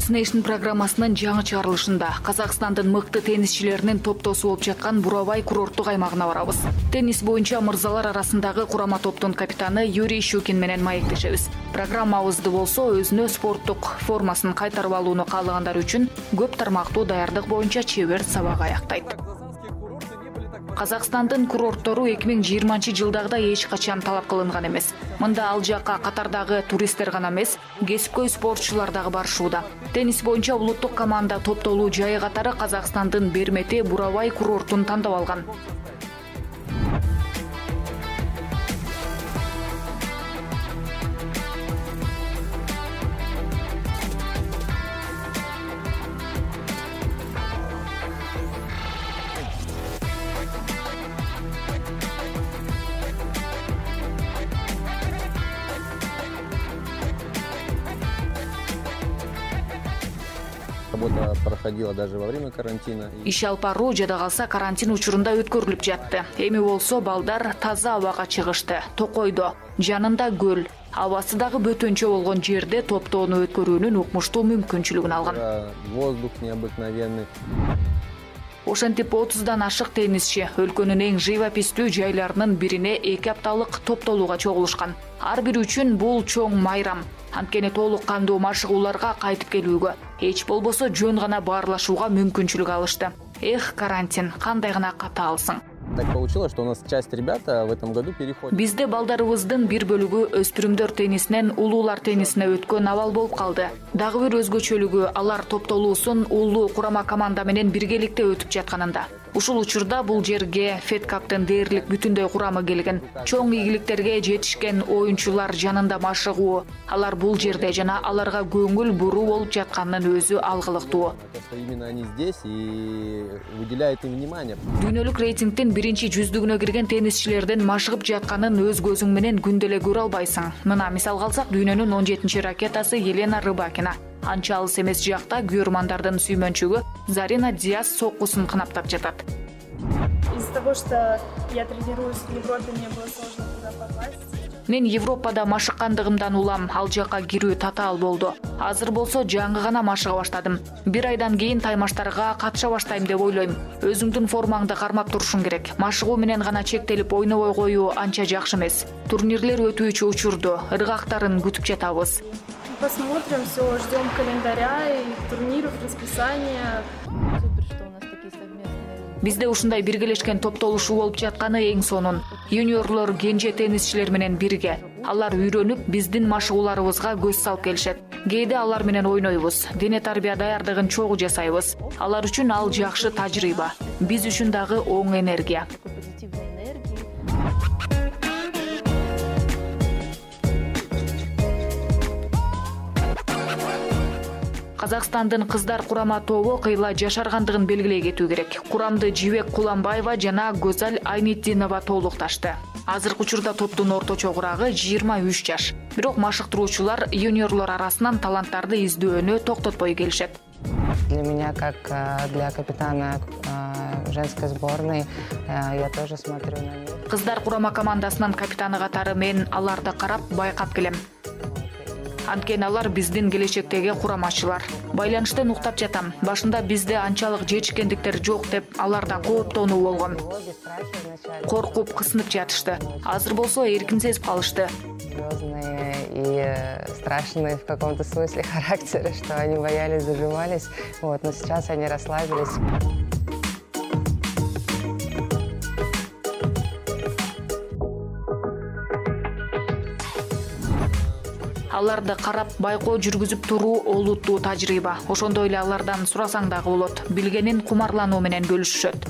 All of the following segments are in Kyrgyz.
Sports Nation программасынын жаңы чыгарылышында Казакстандын мыкты теннисчилеринин топтосу болуп жаткан Бурабай курорттук аймагына барабыз. Теннис боюнча мырзалар арасындагы курама топтун капитаны Юрий Щукин менен маектешебиз. Программабызды болсо өзүнө спорттук формасын кайтарып алууну каалагандар үчүн көп тармактуу даярдык боюнча чебер сабак аяктайт. Казакстандын курорттору 2020-жылдагыдай эч качан талап кылынган эмес. Мында ал жакка катардагы туристтер гана эмес, кесипкөй спортчулар дагы барышууда. Теннис боюнча улуттук команда топтолуу жайы катары Казакстандын Бермети Бурабай курортун тандап алган. Работа проходила даже во время карантина. Иш алып баруу жада калса карантин учурунда өткөрүлүп жатты. Эми болсо балдар таза абага чыгышты, токойдо, жанында көл, абасы дагы бөтөнчө болгон жерде топтоону өткөрүүнүн укмуштуу мүмкүнчүлүгүн алган. Воздух необыкновенный. Ошентип 30дан ашык теннисчи өлкөнүн эң живописттүү жайларынын бирине 2 апталык топтолууга чогулушкан. Ар бири үчүн бул чоң майрам. Анткени толук кандуу машыгууларга кайтып келүүгө, эч болбосо жөн гана баарлашууга мүмкүнчүлүк алышты. Эх, карантин, кандай гана катаалсың. Так получилось, что у нас часть ребят в этом году переходит. Бизде балдарыбыздын бир бөлүгү өспүрүмдөр теннисинен улуулар теннисине өткөн абал болуп калды. Дагы бир өзгөчөлүгү алар топтолуусун улуу курама команда менен биргеликте өтүп жатканында. Ушул учурда бул жерге Fed Cup'тын дээрлик бүтүндөй курамы келген. Чоң ийгиликтерге жетишкен оюнчулар жанында машыгуу, алар бул жерде жана аларга көңүл буруу болуп жатканынын өзү алгылыктуу. Именно они здесь и уделяют им внимание. Дүйнөлүк рейтингдин биринчи жүздүгүнө кирген теннисчилердин машыгып жатканын өз көзүң менен күндө эле көрө албайсың. Мына мисал алсак, дүйнөнүн 17-ракетасы Елена Рыбакина. Анча алыс эмес жакта күйөрмандардын сүймөнчүгү Зарина Диас соккусун кынаптап жатат. Из-за того, что я тренируюсь в Европе, мне было сложно туда попасть. Мен Европада машыккандыгымдан улам, ал жакка кирүү татаал болду. Азыр болсо жаңы гана машыга баштадым. Бир айдан кийин таймаштарга катыша баштайм деп ойлойм. Өзүңдүн формаңды кармап турушуң керек. Машыгуу менен гана чектелип ойнобой коюу анча жакшы эмес. Турнирлер өтүүчү учурду, ыргактарын күтүп жатабыз. Посмотрим, все, ждем календаря и турниров, расписания. Бизде ушундай биргелешкен топтолушуу болуп жатканы эң сонун. Юниорлор кенже теннисчилер менен бирге. Алар үйрөнүп, биздин машыгууларыбызга көз салып келишет. Кээде алар менен ойнойбуз, дене тарбия даярдыгын чогуу жасайбыз. Алар үчүн ал жакшы тажрыйба. Биз үчүн дагы оң энергия. Казакстандын кыздар курама тобу кыйла жашаргандыгын белгилей кетүү керек. Курамды Жибек Куланбаева жана Гөзал Айнитдинова толукташты. Азыркы учурда топтун орточо курагы 23 жаш. Бирок машыктыруучулар юниорлор арасынан таланттарды издөөнү токтотпой келишет. Для меня, как для капитана женской сборной, я тоже смотрю на них. Кыздар курама командасынын капитаны катары мен аларды карап байкап келем. Анткени алар биздин келечектеги курамачылар. Байланыштан уктап жатам. Башында бизде анчалык жетишкендиктер жок деп аларда кооптонуу болгон. Коркуп, кысынып жатышты. Азыр болсо эркин сезип калышты. Серьезные и страшные в каком-то смысле характеры, что они боялись, зажимались. Вот, но сейчас они расслабились. Аларды карап байкоо жүргүзүп туруу олуттуу тажрыйба. Ошондой эле алардан сурасаң дагы болот. Билгенин кумарлануу менен бөлүшүшөт.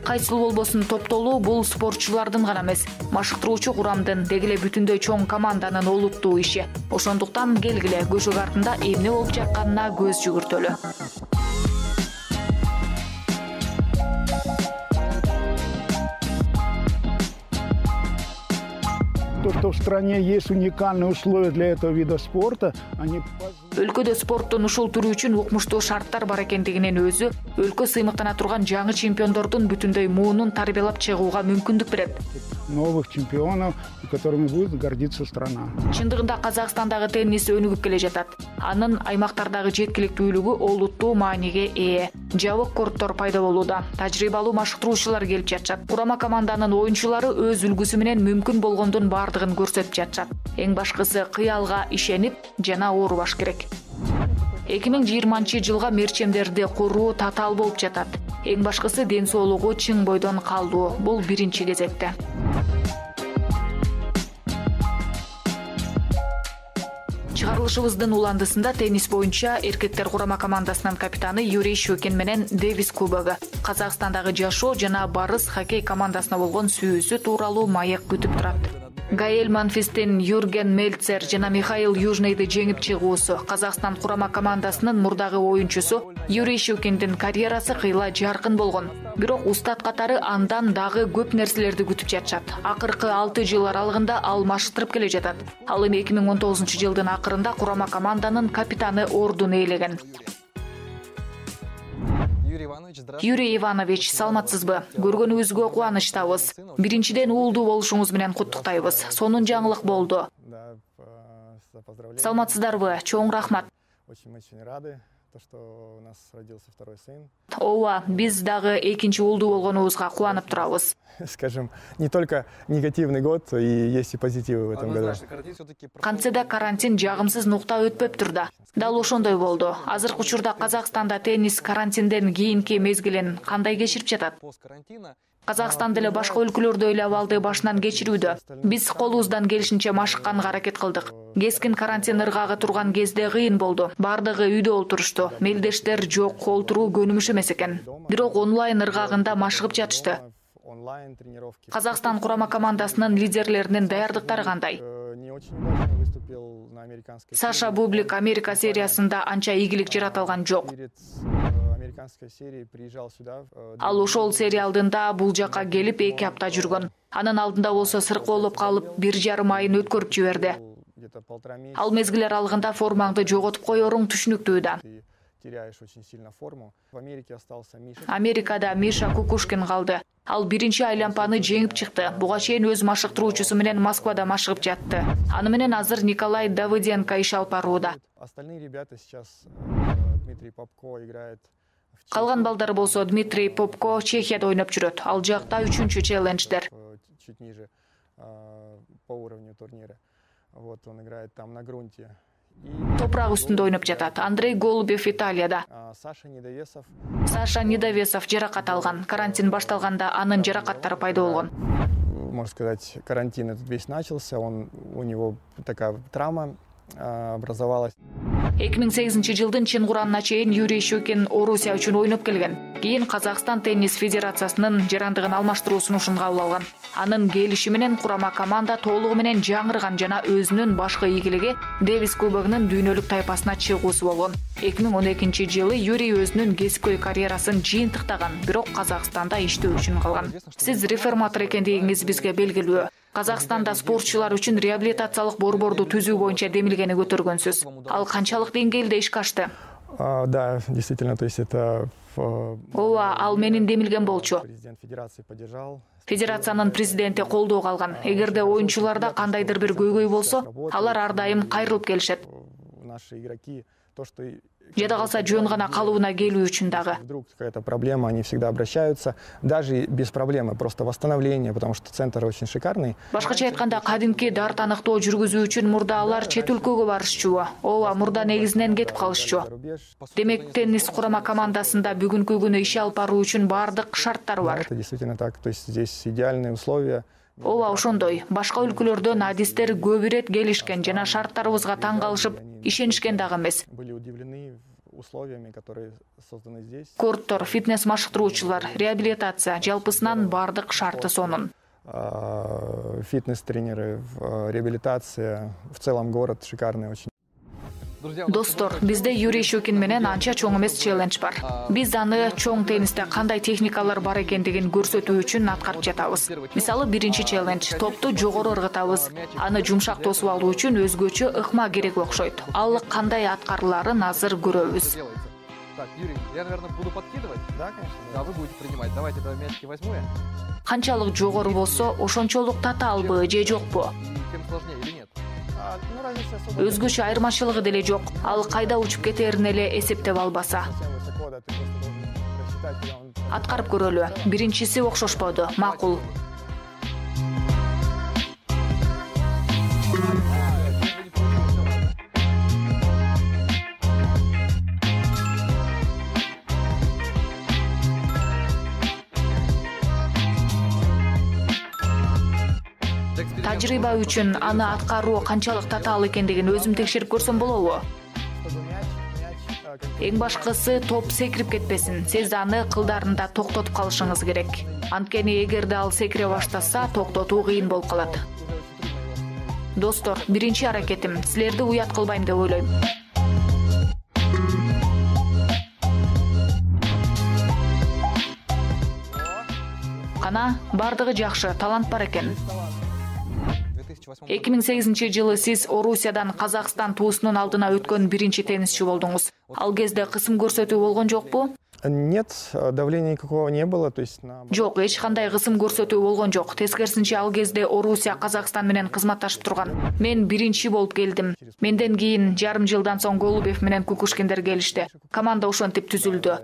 Кайсыл болбосун топтолуу бул спортчулардын гана эмес, машыктыруучу курамдын, деги эле бүтүндөй чоң команданын олуттуу иши. Ошондуктан келгиле көшөк артында эмне болуп жатканына көз жүгүртөлү. То, что в стране есть уникальные условия для этого вида спорта, они... Өлкөдө спорттун ушул түрү үчүн укмуштуу шарттар бар экендигинин өзү өлкө сыймыктана турган жаңы чемпиондордун бүтүндөй муунун тарбиялап чыгууга мүмкүндүк берет. новых чемпионов, и которыми будет гордиться страна. Чындыгында Казакстандагы теннис өнүгүп келе жатат. Анын аймактардагы жеткиликтүүлүгү олуттуу мааниге ээ. Жабык корттор пайда болууда. Тажрыйбалуу машыктыруучулар келип жатышат. Курама команданын оюнчулары өз үлгүсү менен мүмкүн болгондун бардыгын көрсөтүп жатышат. Эң башкысы кыялга ишенип жана оорубаш керек. 2020-жылга мерчемдерди куруу татаал болуп жатат. Эң башкысы ден соолугу чың бойдон калдуу. Бул биринчи кезекте. Чыгарылышыбыздын уландысында теннис боюнча эркектер курама командасынын капитаны Юрий Щукин менен Дэвис кубогу, Казакстандагы жашоо жана барыс хоккей командасына болгон сүйүүсү тууралуу маек күтүп турат. Гаэль Монфистин Юрген Мельцер жана Михаил Южныйды жеңип чыгуусу, Казакстан курама командасынын мурдагы оюнчусу Юрий Щукиндин карьерасы кыйла жаркын болгон. Бирок устат катары андан дагы көп нерселерди күтүп жатышат. Акыркы 6 жыл аралыгында ал машыктырып келе жатат. Ал эми 2019-жылдын акырында курама команданын капитаны ордун ээлеген. Юрий Иванович, саламатсызбы? Көргөнүбүзгө кубанычтабыз. Биринчиден уулдуу болушуңуз менен куттуктайбыз. Сонун жаңылык болду. Саламатсыздарбы? Чоң рахмат. Ооба, биз дагы экинчи уулдуу болгонубузга кубанып турабыз. Скажем, не только негативный год, и есть и позитивы в этом году. Кантсе карантин жагымсыз нукта өтпөптүр да. Дал ошондой болду. Азыркы учурда Казакстанда теннис карантинден кийинки мезгилин кандай кечирип жатат? Казакстан деле башка өлкөлөрдө эле абалды башынан кечирүүдө. Биз колубуздан келишинче машыкканга аракет кылдык. Кескин карантин ыргагы турган кезде кыйын болду. Бардыгы үйдө олтурушту. Мелдештер жок, олтуруу көнүмүш эмес экен. Бирок онлайн ыргагында машыгып жатышты. Казакстан курама командасынын лидерлеринин даярдыктары кандай? Саша Бублик Америка сериясында анча ийгилик жаратылган жок. Ал ошол серия алдында бул жака келип 2 апта жүргөн. Анын алдында болсо сыркоолоп калып 1,5 айын өткөрүп жиберди. Ал мезгил аралыгында формаңды жоготуп коеруң түшүнүктүү да. Америкада Миша Кукушкин калды. Ал биринчи айланпаны жеңип чыкты. Буга чейин өз машыктыруучусу менен Москвада машыгып жатты. Аны менен азыр Николай Давыденко иш алып барууда. Калган балдары болсо Дмитрий Попко Чехияда ойноп жүрөт. Ал жакта 3-чү челлендждер. Топурак үстүндө ойноп жатат. Андрей Голубев Италияда. Саша Недовесов жаракат алган. Карантин башталганда анын жаракаттары пайда болгон. Можно сказать, карантин этот весь начался, у него такая травма образовалась. 2008-жылдын чын курамына чейин Юрий Щукин Орусия үчүн ойноп келген. Кийин Казакстан теннис федерациясынын жарандыгын алмаштыруу сунушун кабыл алган. Анын келиши менен курама команда толугу менен жаңырган жана өзүнүн башкы ийгилиги Дэвис кубогунун дүйнөлүк тайпасына чыгуусу болгон. 2012-жылы Юрий өзүнүн кесипкөй карьерасын жыйынтыктаган, бирок Казакстанда иштөө үчүн калган. Сиз реформатор экендигиңиз бизге белгилүү. Казакстанда спортчулар үчүн реабилитациялык борборду түзүү боюнча демилгени көтөргөнсүз. Ал канчалык деңгээлде ишке ашты? Да, действительно, то есть это... Ооба, ал менин демилген болчу. Федерациянын президенти колдоого алган. Эгерде оюнчуларда кандайдыр бир көйгөй болсо, алар ар дайым кайрылып келишет. Жада калса жөн гана калыбына келүү үчүн дагы. Вдруг какая-то проблема, они всегда обращаются, даже без проблемы, просто восстановление, потому что центр очень шикарный. Башкача айтканда, кадимки дар таныктоо жүргүзүү үчүн мурда алар чет өлкөгө барышчу. Ооба, мурда негизинен кетип калышчу. Демек, теннис курама командасында бүгүнкү күнү иш алып баруу үчүн баардык шарттар бар. Это действительно так, то есть здесь идеальные условия. Ооба, ошондой. Башка өлкөлөрдөн адистер көп ирет келишкен жана шарттарыбызга таң калышып, ишенишкен дагы эмес. Корттор, фитнес машыктыруучулар, реабилитация, жалпысынан бардык шарты сонун. Фитнес-тренеры, реабилитация, в целом город шикарный очень. Достор, бизде Юрий Щукин менен анча чоң эмес челлендж бар. Биз аны чоң теннисте кандай техникалар бар экендигин көрсөтүү үчүн аткарып жатабыз. Мисалы, биринчи челлендж — топту жогору ыргытабыз. Аны жумшак тосуп алуу үчүн өзгөчө ыкма керек окшойт. Ал кандай аткарыларын азыр көрөбүз. Так, Юрий, я, наверное, буду подкидывать. Да, конечно. Да, вы будете принимать. Давайте тогда мячики возьму я. Канчалык жогору болсо, ошончолук татаалбы же жокпу? И тем сложнее или нет? Ну, разница особо. Өзгөчө айырмачылыгы деле жок. Ал кайда учуп кетерин эле эсептеп албаса. Совсем высоко, да, ты просто должен рассчитать, куда он... Аткарып көрөлү. Биринчиси окшошподу. Макул. Тажрыйба үчүн аны аткаруу канчалык татаал экендигин өзүм текшерип көрсөм болобу? Чтобы мяч, Эң башкысы топ секирип кетпесин. Сиз аны кылдарында токтотуп калышыңыз керек. Анткени эгерде ал секире баштаса, токтотуу кыйын болуп калат. Достор, биринчи аракетим силерди уят кылбайм деп ойлойм. Кана, бардыгы жакшы, талант бар экен. 2008-жылы сиз Орусиядан Казакстан туусунун алдына өткөн биринчи теннисчи болдуңуз. Ал кезде кысым көрсөтүү болгон жокпу? Нет, давления никакого не было, то есть Жок, эч кандай кысым көрсөтүү болгон жок. Тескерисинче ал кезде Орусия Казакстан менен кызматташып турган. Мен биринчи болуп келдим. Менден кийин жарым жылдан соң Голубев менен Кукушкиндер келишти. Команда ошентип түзүлдү.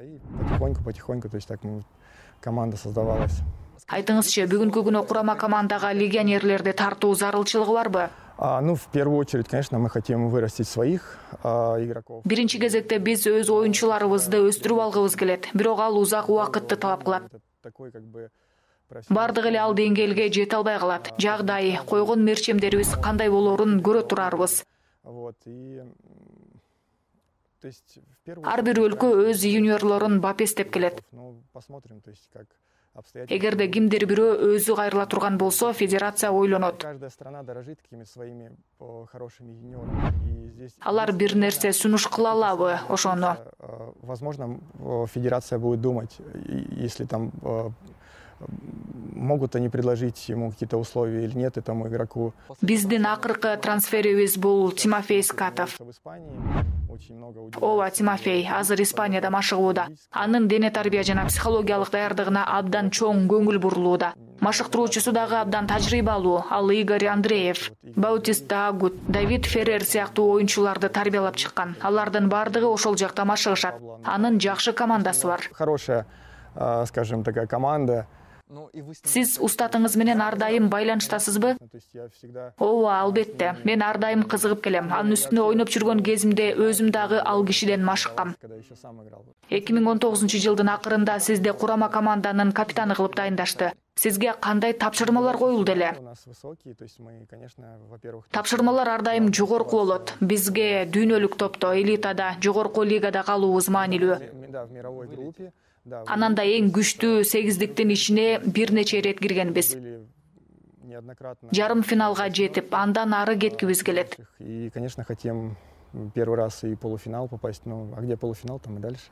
Потихоньку, то есть так команда создавалась. Айтыңызчы, бүгүнкү күнү курама командага легионерлерди тартуу зарылчылыгы барбы? Ну, в первую очередь, конечно, мы хотим вырастить своих игроков. Биринчи кезекте биз өз оюнчуларыбызды өстүрүп алгыбыз келет, бирок ал узак убакытты талап кылат. Бардык эле ал деңгээлге жете албай калат. Жагдай, койгон мерчемдерибиз кандай болоорун көрө турарбыз. Ар бир өлкө өз юниорлорун бапестеп келет. Эгерде кимдир бирөө өзү кайрыла турган болсо, федерация ойлонот. Алар бир нерсе сунуш кыла алабы ошону? Возможно, федерация будет думать, если там могут они предложить ему какие-то условия или нет этому игроку. Биздин акыркы трансферибиз бул Тимофей Скатов. Ооба, Тимофей азыр Испанияда машыгууда. Анын дене тарбия жана психологиялык даярдыгына абдан чоң көңүл бурулууда. Машыктыруучусу дагы абдан тажрыйбалуу. Ал Игорь Андреев, Баутиста Агут, Давид Феррер сыяктуу оюнчуларды тарбиялап чыккан. Алардын бардыгы ошол жакта машыгышат. Анын жакшы командасы бар. Хорошая, скажем, такая команда. Сиз устатыңыз менен ар дайым байланыштасызбы? Ооба, албетте. Мен ар дайым кызыгып келем. Анын үстүнө ойноп жүргөн кезимде өзүм дагы ал кишиден машыккам. 2019-жылдын акырында сизди курама команданын капитаны кылып дайындашты. Сизге кандай тапшырмалар коюлду эле? Тапшырмалар ар дайым жогорку болот. Бизге дүйнөлүк топто, элитада, жогорку лигада калуубуз маанилүү. Анан да эң күчтүү 8-диктин ичине бир нече ирет киргенбиз. Жарым финалга жетип, андан ары кеткибиз келет. И, конечно, хотим первый раз и полуфинал попасть, а где полуфинал, там и дальше.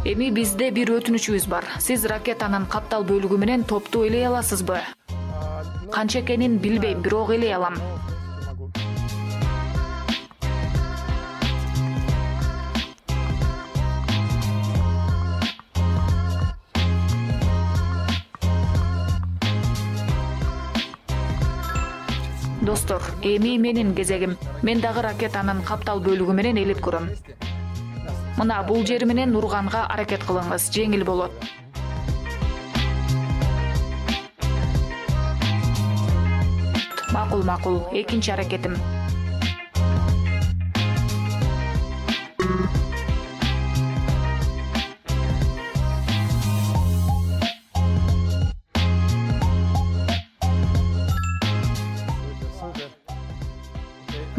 Эми бизде бир өтүнүчүбүз бар. Сиз ракетанын каптал бөлүгү менен топту ээлей аласызбы? Канча экенин билбейм, бирок ээлей алам. Достор, эми менин кезегим. Мен дагы ракетанын каптал бөлүгү менен ээлеп көрөм. Мына бул жери менен урганга аракет кылыңыз, жеңил болот. Макул, экинчи аракетим.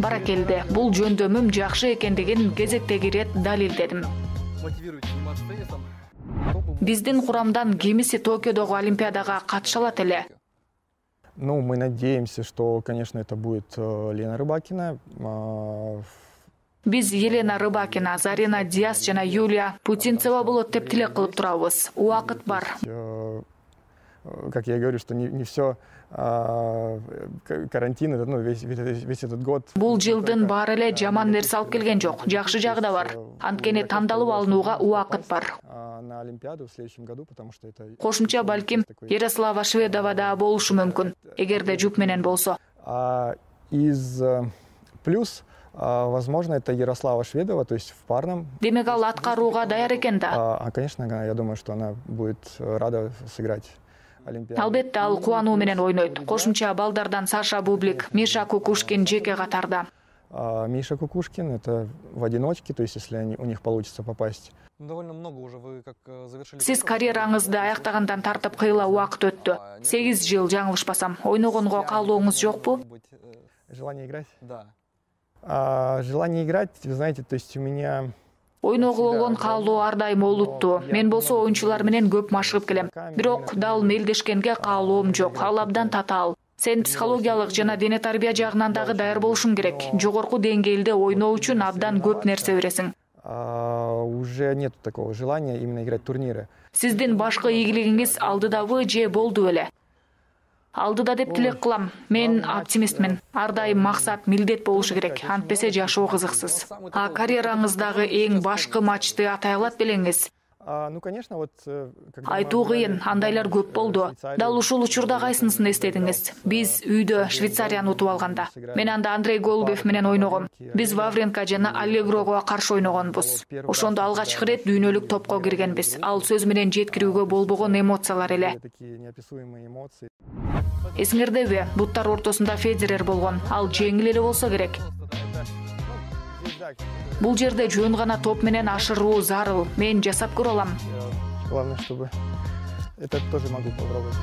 Баракелде, бул жөндөмүм жакшы экендигин кезектеги ирет далилдедим. Биздин курамдан кимиси Токиодогу Олимпиадага катыша алат эле? Мы надеемся, что, конечно, это будет Лена Рыбакина. Биз Елена Рыбакина, Зарина Диас жана Юлия Путинцева болот деп тилек кылып турабыз. Убакыт бар. как я говорю, что не все карантин, это, ну, весь этот год. Бул жылдын баары эле жаман нерсе алып келген жок. Жакшы жагы да бар. Анткени тандалып алынууга убакыт бар. На Олимпиаду в следующем году, потому что это... Кошумча балким Ярослава Шведова да болушу мүмкүн, эгерде жұп менен болсо. Из плюс, возможно, это Ярослава Шведова, то есть в парном. Демек ал аткарууга даяр экен да. Конечно, я думаю, что она будет рада сыграть Олимпиаду. Албетте ал кубануу менен ойнойт. Кошумча балдардан Саша Бублик, Миша Кукушкин жеке катарда. Миша Кукушкин это в одиночке, то есть если у них получится попасть. Довольно много уже вы как завершили. Сиз карьераңызды аяктагандан тартып кыйла убакыт өттү. 8 жыл жаңылышпасам. Ойногонго каалооңуз жокпу? Желание играть? Да. Желание играть, вы знаете, то есть у меня... Ойногу болгон каалоо ар дайым олуттуу. Мен болсо оюнчулар менен көп машыгып келем. Бирок дал мелдешкенге каалоом жок. Ал абдан татаал. Сен психологиялык жана дене тарбия жагынан дагы даяр болушуң керек. Жогорку деңгээлде ойноо үчүн абдан көп нерсе бересиң. Уже нету такого желания именно играть турниры. Сиздин башкы ийгилигиңиз алдыдабы же болду беле? Алдыда деп тилек кылам. Мен оптимистмин. Ар дайым максат, милдет болушу керек. Антпесе жашоо кызыксыз. Карьераңыздагы эң башкы матчты атай алат белеңиз? Ну, конечно, вот... Айтуу кыйын, андайлар көп болду. Дал ушул учурда кайсынысын эстедиңиз? Биз үйдө Швейцарияны утуп алганда. Мен анда Андрей Голубев менен ойногом. Биз Вавренко жана Аллегрого каршы ойногонбуз. Ошондо алгачкы ирет дүйнөлүк топко киргенбиз. Ал сөз менен жеткирүүгө болбогон эмоциялар эле. Эсиңердеби, буттар ортосунда Федерер болгон. Ал жеңил эле болсо керек. Бул жерде жөн гана топ менен ашыруу зарыл. Мен жасап көрө алам. Главное, чтобы это тоже могу попробовать.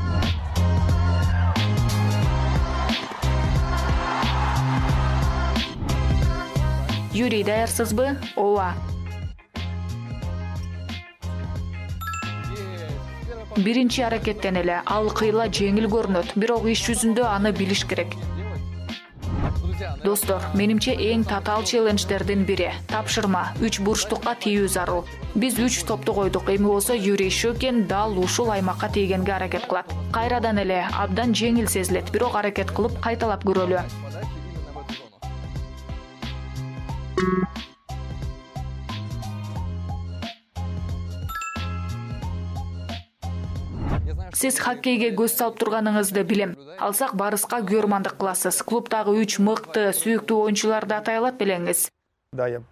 Юрий, даярсызбы? Ооба. Биринчи аракеттен эле ал кыйла жеңил көрүнөт, бирок иш жүзүндө аны билиш керек. Достор, менимче эң татаал челлендждердин бири тапшырма 3 бурчтукка тийүү зарыл. Биз 3 топту койдук. Эми болсо Юрий Шөкен дал ушул аймакка тийгенге аракет кылат. Кайрадан эле абдан жеңил сезилет, бирок аракет кылып кайталап көрөлү. Сиз хоккейге көз салып турганыңызды билем. Алсак Барыска көрмандык кыласыз. Клубдагы 3 мыкты, сүйүктүү оюнчуларды атай алат белеңиз? Да, я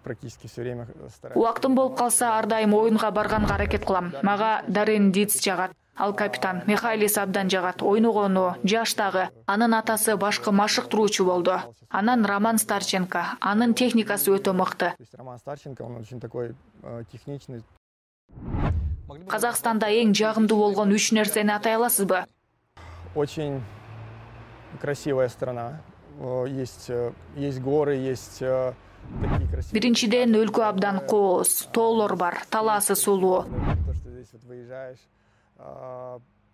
практически все время стараюсь. Убактым болуп калса, ар дайым оюнга барганга аракет кылам. Мага Дарен Диц жагат. Ал капитан. Михайлис абдан жагат. Ойногону, жаштагы. Анын атасы башкы машыктыруучу болду. Анан Роман Старченко. Анын техникасы өтө мыкты. Роман Старченко, он очень такой техничный. Казакстанда эң жагымдуу болгон 3 нерсени атай аласызбы? Очень красивая страна. Есть горы, есть такие красивые. Биринчиден өлкө абдан кооз, тоолор бар, талаасы сулуу. То, что здесь вот выезжаешь,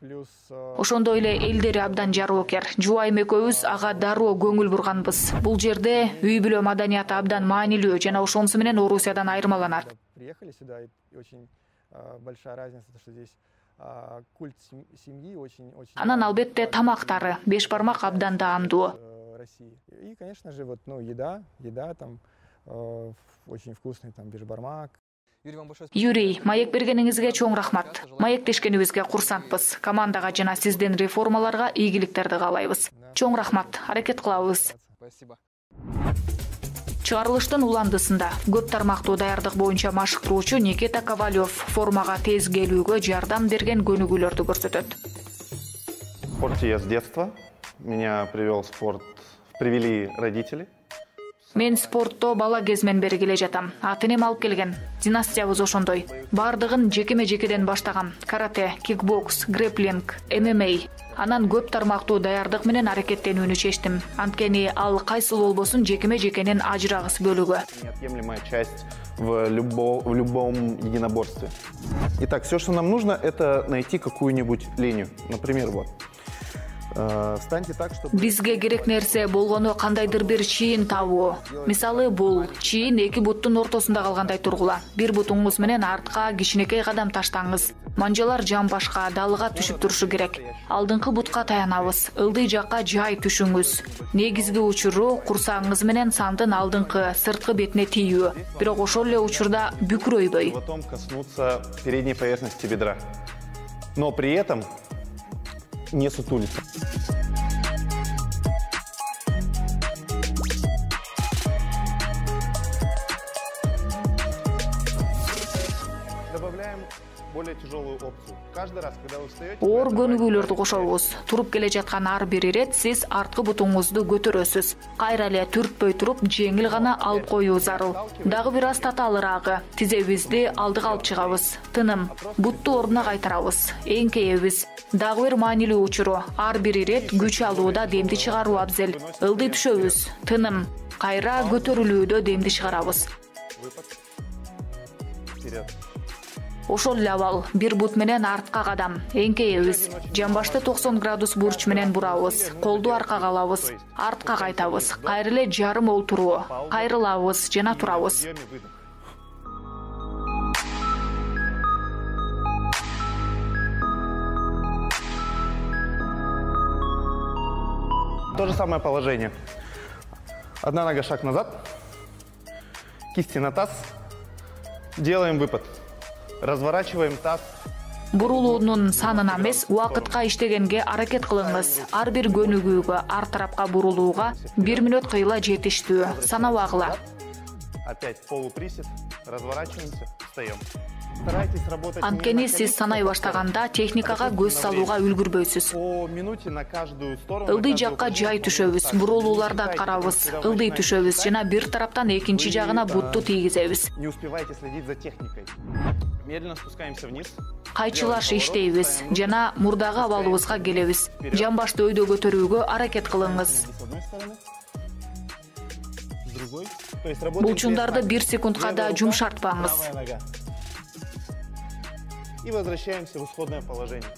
плюс... Ошондой эле элдери абдан жароокер. Жубайым экөөбүз ага дароо көңүл бурганбыз. Бул жерде үй бүлө маданияты абдан маанилүү жана ошонусу менен Орусиядан айырмаланат. Приехали сюда, и очень большая разница, что здесь культ семьи очень... Анан албетте тамактары, беш бармак абдан даамдуу. И, конечно же, вот, ну, еда там очень вкусный, там, бешбармак. Юрий, маек бергениңизге чоң рахмат. Маектешкенибизге курсантпыз. Командага жана сиздин реформаларга ийгиликтерди каалайбыз. Чоң рахмат, аракет кылабыз. Спасибо. Чыгарылыштын уландысында көп тармактуу даярдык боюнча машыктыруучу Никита Ковалев формага тез келүүгө жардам берген көнүгүүлөрдү көрсөтөт. В спорте я с детства. Меня привели родители. Мен спортто бала кезмен бери келе жатам. Ата-энем алып келген. Династиябыз ошондой. Бардыгын жекеме-жекеден баштагам. Карате, кикбокс, грэпплинг, ММА. Анан көп тармактуу даярдык менен аракеттенүүнү чечтим. Анткени ал кайсыл болбосун жекеме-жекенин ажырагыс бөлүгү. Неотъемлемая часть в любом единоборстве. Итак, все, что нам нужно, это найти какую-нибудь линию. Например, вот. Встаньте так, чтобы... Бизге керек нерсе болгону кандайдыр бир чийин табуу. Мисалы бул чийин эки буттун ортосунда калгандай тургула. Бир бутуңуз менен артка кичинекей кадам таштаңыз. Манжалар жамбашка, далыга түшүп турушу керек. Алдыңкы бутка таянабыз. Ылдый жакка жай түшүңүз. Негизги учуру курсагыңыз менен сандын алдыңкы, сырткы бетине тийүү. Бирок ошол эле учурда бүкүрөйбөй. Потом коснуться передней поверхности бедра. Но при этом не сутулиться. Добавляем более тяжелую опцию. Каждый раз, когда вы встаете... Оор көнүгүүлөрдү кошобуз. Туруп келе жаткан ар бир ирет сиз арткы бутуңузду көтөрөсүз. Кайра эле түртпөй туруп, жеңил гана алып коюу зарыл. Дагы бир аз татаалыраагы. Тизебизди алдыга алып чыгабыз. Тыным. Бутту ордуна кайтарабыз. Эңкейебиз. Дагы бир маанилүү учуру. Ар бир ирет күч алууда демди чыгаруу абзел. Ылдый түшөбүз. Тыным. Кайра көтөрүлүүдө демди чыгарабыз. Вперед. Ошол эле абал. Бир бут менен артка кадам. Эңкейебиз. Жамбашты 90 градус бурч менен бурабыз. Колду аркага алабыз. Артка кайтабыз. Кайра эле жарым олтуруу. Кайрылабыз жана турабыз. То же самое положение. Одна нога шаг назад. Кисти на таз. Делаем выпад. Разворачиваем таз. Бурулуунун санына эмес, убакытка иштегенге аракет кылыңыз. Ар бир көнүгүүгө, ар тарапка бурулууга 1 мүнөт кыйла жетиштүү. Санабагыла. Опять полуприсед. Разворачиваемся. Встаем. Старайтесь работать. Анткени сиз санай баштаганда техникага көз салууга үлгүрбөйсүз. По минуте на каждую сторону. Ылдый жакка жай түшөбүз, бурулууларды аткарабыз. Ылдый түшөбүз жана бир тараптан экинчи жагына бутту тийгизебиз. Не успевайте следить за техникой. Медленно спускаемся вниз. Кайчылаш иштейбиз жана мурдагы абалыбызга келебиз. Жамбашты өйдө көтөрүүгө аракет кылыңыз. С одной стороны. С другой. То есть работаем. Булчундарды 1 секундка да жумшартпаңыз. Правая нога. И возвращаемся в исходное положение.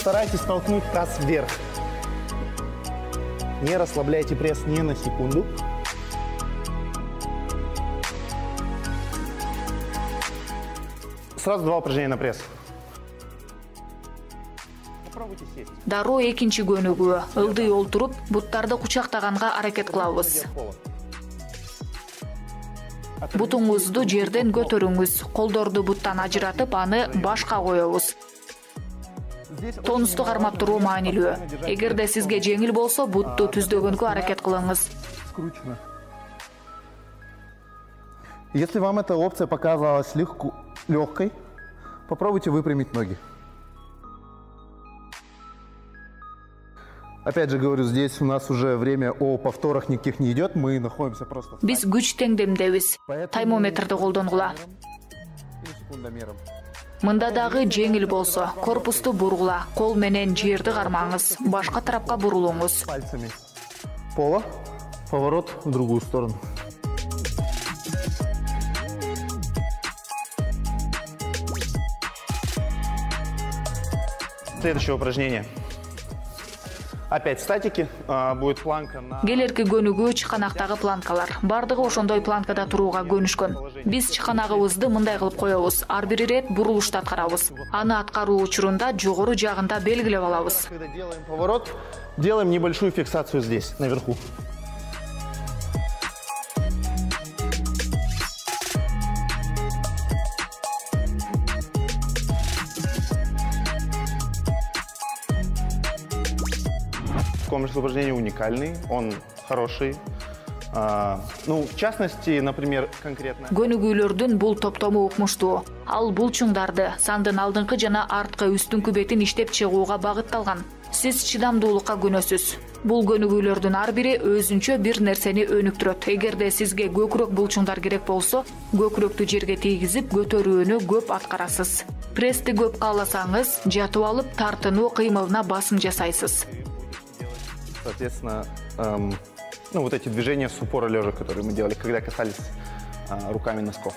Старайтесь толкнуть таз вверх. Не расслабляйте пресс ни на секунду. Сразу 2 упражнения на пресс. Попробуйте сесть. Дароо экинчи көнүгүү. Ылдый олтуруп, буттарды кучактаганга аракет кылабыз. Бутуңузду жерден көтөрүңүз. Колдорду буттан ажыратып, аны башка коебуз. Тонусту кармап туруу маанилүү. Эгерде сизге жеңил болсо, бутту түздөгөнгө аракет кылыңыз. Скручено. Если вам эта опция показалась легкой, попробуйте выпрямить ноги. Опять же говорю, здесь у нас уже время о повторах никаких не идет, мы находимся просто... Биз күч теңдемдебиз. Таймометрди колдонгула. Мында дагы жеңил болсо, корпусту бургула, кол менен жерди кармаңыз, башка тарапка бурулуңуз. Пальцами пола, поворот в другую сторону. Следующее упражнение. Опять статики, будет планка на... Келерки көнүгүү чыканактагы планкалар. Бардыгы ошондой планкада турууга көнүшкөн. Биз чыканагыбызды мындай кылып коебуз. Ар бир ирет бурулушту аткарабыз. Аны аткаруу учурунда жогору жагында белгилеп алабыз. Когда делаем поворот, делаем небольшую фиксацию здесь, наверху. Комплекс упражнений уникальный, он хороший. В частности, например, конкретно... Көнүгүүлөрдүн бул топтому укмуштуу. Ал булчуңдарды, сандын алдыңкы жана арткы үстүңкү бетин иштеп чыгууга багытталган. Сиз чыдамдуулукка көнөсүз. Бул көнүгүүлөрдүн ар бири өзүнчө бир нерсени өнүктүрөт. Эгерде сизге көкүрөк булчуңдар керек болсо, көкүрөктү жерге тийгизип, көтөрүүнү көп аткарасыз. Пресsti көп кааласаңыз, жатып алып тартынуу кыймылына басым жасайсыз. Соответственно, вот эти движения с упора лежа, которые мы делали, когда касались руками носков.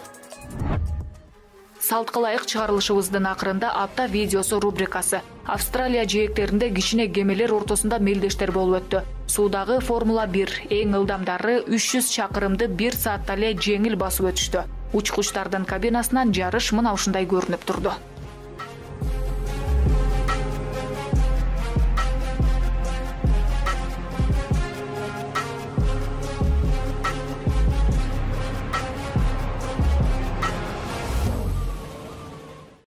Салтка ылайык чыгарылышыбыздын акырында апта видеосу рубрикасы. Австралия жээктеринде кичине кемелер ортосунда мелдештер болуп өттү. Суудагы Формула 1 эң ылдамдары 300 чакырымды 1 саатта эле жеңил басып өтүштү. Учкучтардын кабинасынан жарыш мына ушундай көрүнүп турду.